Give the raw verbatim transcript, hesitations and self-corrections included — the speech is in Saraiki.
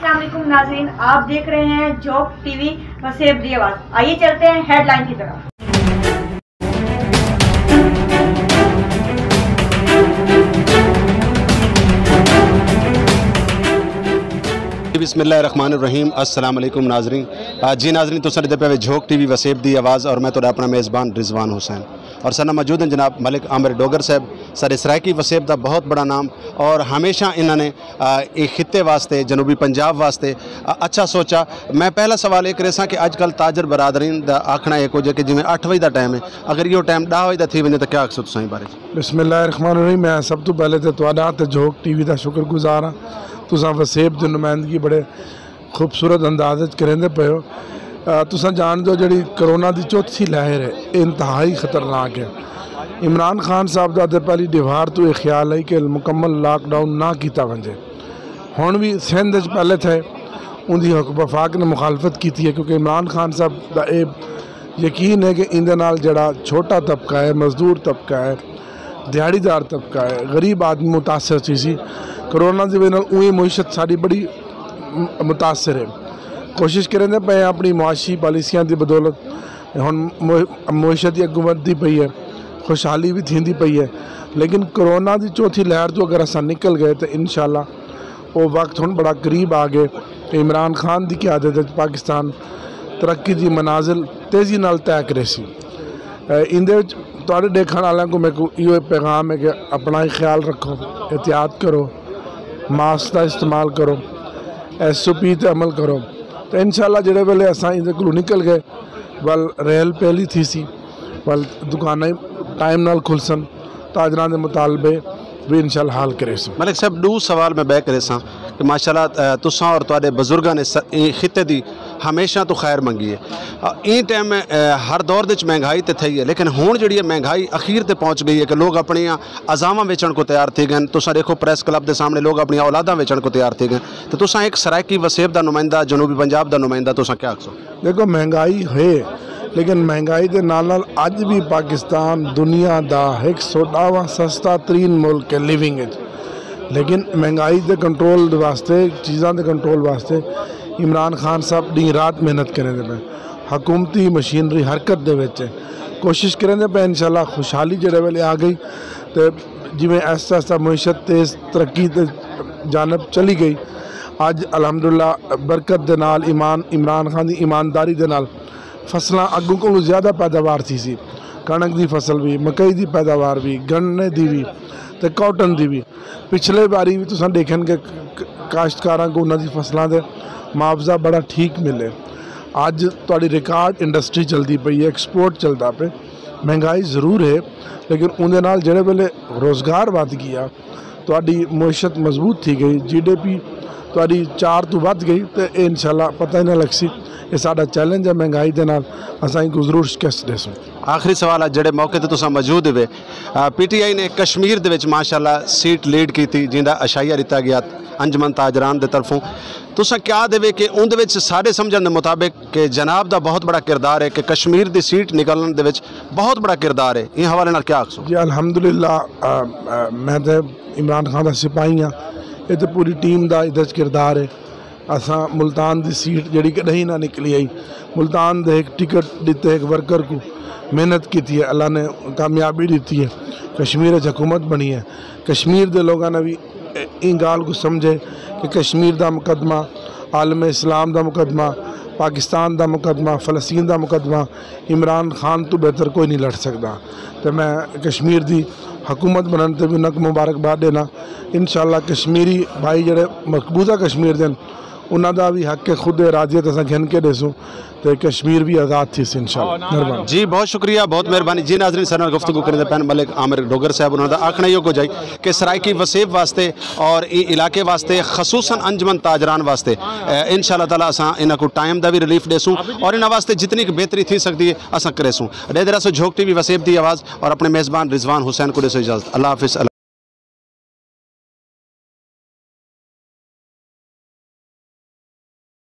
السلام علیکم ناظرین، آپ دیکھ رہے ہیں جھوک ٹی وی وسیب دی آواز۔ آئیے چلتے ہیں ہیڈ لائن کی طرف۔ بسم اللہ الرحمن الرحیم۔ السلام علیکم ناظرین۔ آ، جی ناظرین، تساں ݙیہدے پئے وے جھوک ٹی وی وسیب دی آواز اور میں تہاݙا اپݨا میزبان رضوان حسین۔ اور ساݙے نال موجود ہیں جناب ملک عامر ڈوگر صاحب، ساݙے سرائیکی وسیب دا بہت بڑا نام، اور ہمیشہ انہاں نے، آ، اے خطے واسطے، جنوبی پنجاب واسطے، آ، اچھا سوچا۔ میں پہلا سوال اے کریساں کہ اڄ کل تاجر برادری دا آکھݨا اے کجھ ہے کہ جیویں اٹھ وڄے دا ٹائم ہے، اگر ایہو ٹائم ݙاہ وڄے دا تھی ونڄے تاں کیا آکھسو تساں ایں بارے چ؟ بسم اللہ الرحمن الرحیم۔ میں سب توں پہلے تے تہاݙا تے جھوک ٹی وی دا شکر گزار ہاں، تساں وسیب دی نمائندگی بڑے خوبصورت انداز وچ کریندے پئے ہو۔ آ، تساں ڄاݨدے ہو جیڑھی کرونا دی چوتھی لہر ہے، اے انتہائی خطرناک ہے۔ عمران خان صاحب دا تے پہلی ݙیہاڑ توں اے خیال ہے کہ مکمل لاک ڈاؤن نہ کیتا ونڄے۔ ہݨ وی سندھ وچ پہلے تھئے، اوندی حکومت وفاق نے مخالفت کیتی ہے، کیونکہ عمران خان صاحب دا اے یقین ہے کہ ایندے نال جیڑھا چھوٹا طبقہ ہے، مزدور طبقہ ہے، دیہاڑی دار طبقہ ہے، غریب آدمی متاثر تھیسی۔ کرونا دی وجہ نال اونہی معیشت ساݙی بڑی م-، متاثر ہے۔ کوشش کریندے پئے ہیں اپݨی معاشی پالیسیاں دی بدولت، ہݨ مو-، معیشت دی اڳوں ودھدی پئی ہے، خوشحالی وی تھیندی پئی ہے، لیکن کرونا دی چوتھی لہر توں اگر اساں نکل ڳئے تے انشاءاللہ او وقت ہݨ بڑا قریب آ ڳئے تے عمران خان دی قیادت وچ پاکستان ترقی دی منازل تیزی نال طے کریسی۔ اے، ایندے وچ تہاݙے ݙیکھݨ آلیاں کوں میکوں ایہو پیغام ہے کہ اپݨا ہی خیال رکھو، احتیاط کرو، ماسک دا استعمال کرو، ایس او پی تے عمل کرو۔ تے انشاءاللہ جیڑھے ویلے اساں ایندے کولوں نکل ڳئے، ول ریل پہلی تھیسی، ول دکاناں ٹائم نال کھلسن، تاجراں دے مطالبے وی انشاءاللہ حل کریسوں۔ ملک صاحب، ݙو سوال میں ٻئے کریساں کہ ماشاءاللہ، اے، تساں اور تہاݙے بزرگاں نے س-، ایں خطے دی ہمیشہ توں خیر منگی ہے۔ اے، ایں ٹائم، اے، ہر دور دے وچ مہنگائی تے تھئی ہے، لیکن ہݨ جیڑھی ہے مہنگائی اخیر تے پہنچ ڳئی ہے کہ لوگ اپݨیاں عزاواں ویچݨ کوں تیار تھی ڳئن۔ تساں ݙیکھو پریس کلب دے سامݨے لوگ اپݨیاں اولاداں ویچݨ کوں تیار تھی ڳئن۔ تے تساں ہک سرائیکی وسیب دا نمائندہ، جنوبی پنجاب دا نمائندہ، تساں کیا آکھسو؟ ݙیکھو، مہنگائی ہے، لیکن مہنگائی دے نال نال اڄ وی پاکستان دنیا دا ہک سو ݙاہواں سستا ترین ملک ہے لیونگ وچ۔ لیکن مہنگائی دے کنٹرول دے واسطے، چیزاں دے کنٹرول واسطے عمران خان صاحب ݙینہہ رات محنت کریندے پئے۔ حکومتی مشینری حرکت دے وچ ہے۔ کوشش کریندے پئے، انشاءاللہ خوشحالی جیڑھے ویلے آ ڳئی تے جیویں آہستہ آہستہ معیشت تیز ترقی دے جانب چلی ڳئی۔ اڄ الحمدللہ برکت دے نال، ایمان، عمران خان دی ایمانداری دے نال فصلاں اڳوں کولوں زیادہ پیداوار تھیسی۔ کݨک دی فصل وی، مکئی دی پیداوار وی، گنے دی وی تے کاٹن دی وی۔ پچھلے واری وی تساں ݙیکھن کہ ک-، ک-، کاشتکاراں کوں انہاں دی فصلاں دے معاوضہ بڑا ٹھیک ملے۔ اڄ تہاݙی ریکارڈ انڈسٹری چلدی پئی ہے، ایکسپورٹ چلدا پئے۔ مہنگائی ضرور ہے، لیکن اوندے نال جیڑھے ویلے روزگار ودھ ڳیا، تہاݙی معیشت مضبوط تھی ڳئی، جی ڈی پی تہاݙی چار توں ودھ ڳئی، تے اے انشاءاللہ پتہ ہی نہ لڳسی۔ اے ساݙا چیلنج ہے مہنگائی دے نال، اساں اینکوں ضرور شکست ݙیسوں۔ آخری سوال ہے، جیڑھے موقع تے تساں موجود ہوئے، آ، پی ٹی آئی نے کشمیر دے وچ ماشاءاللہ سیٹ لیڈ کیتی، جیندا عشائیہ ݙتا ڳیا انجمن تاجران دے طرفوں۔ تساں کیا آہدے وے کہ اوندے وچ ساݙے سمجھݨ دے مطابق کہ جناب دا بہت بڑا کردار ہے کہ کشمیر دی سیٹ نکلݨ دے وچ بہت بڑا کردار ہے، ایں حوالے نال کیا آکھسو؟ جی الحمدللہ، آ، آ، میں تے عمران خان دا سپاہی ہاں، اے تے پوری ٹیم دا ایندے وچ کردار ہے۔ اساں ملتان دی سیٹ جیڑھی کݙاہیں نہ نکلی ہئی، ملتان دے ہک ٹکٹ ݙتے ہک ورکر کوں محنت کیتی ہے، اللہ نے کامیابی ݙتی ہے، کشمیر وچ حکومت بݨی ہے۔ کشمیر دے لوگاں نے وی ایں ڳالھ کوں سمجھے کہ کشمیر دا مقدمہ، عالم اسلام دا مقدمہ، پاکستان دا مقدمہ، فلسطین دا مقدمہ عمران خان توں بہتر کوئی نہیں لڑ سڳدا۔ تے میں کشمیر دی حکومت بݨݨ تے وی انہاں کوں مبارکباد ݙینا۔ انشاءاللہ کشمیری بھائی جیڑھے مقبوضہ کشمیر دے ہن، انہاں دا وی حق خود ارادیت اساں گھن کے ݙیسوں تے کشمیر وی آزاد تھیسی انشاءاللہ۔ مہربانی۔ جی بہت شکریہ، بہت مہربانی۔ جی ناظرین، ساݙے نال گفتگو کریندے پئے ہن ملک عامر ڈوگر صاحب، انہاں دا آکھݨا ایہو کجھ ہئی کہ سرائیکی وسیب واسطے اور ایں علاقے واسطے، خصوصاً انجمن تاجران واسطے، اے، انشاءاللہ تعالیٰ اساں انہاں کوں ٹائم دا وی ریلیف ݙیسوں اور انہاں واسطے جتنی کہ بہتری تھی سڳدی ہے اساں کریسوں۔ ݙیہدے رہسو جھوک ٹی وی وسیب دی آواز اور اپݨے میزبان رضوان حسین کوں ݙیسو اجازت۔ اللہ حافظ۔